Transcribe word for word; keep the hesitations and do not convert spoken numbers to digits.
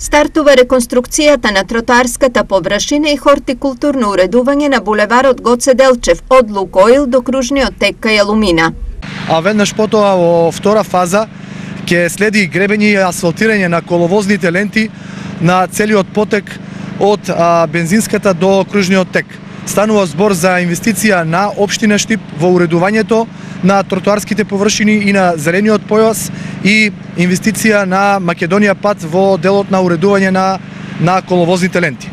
Стартува реконструкцијата на тротоарската површина и хортикултурно уредување на булеварот Гоце Делчев од Лукоил до кружниот тек кај Алумина. А веднаш потоа во втора фаза ќе следи гребење и асфалтирање на коловозните ленти на целиот потек од а, бензинската до кружниот тек. Станува збор за инвестиција на општина Штип во уредувањето на тротоарските површини и на зелениот појас и инвестиција на Македонија пат во делот на уредување на, на коловозните ленти.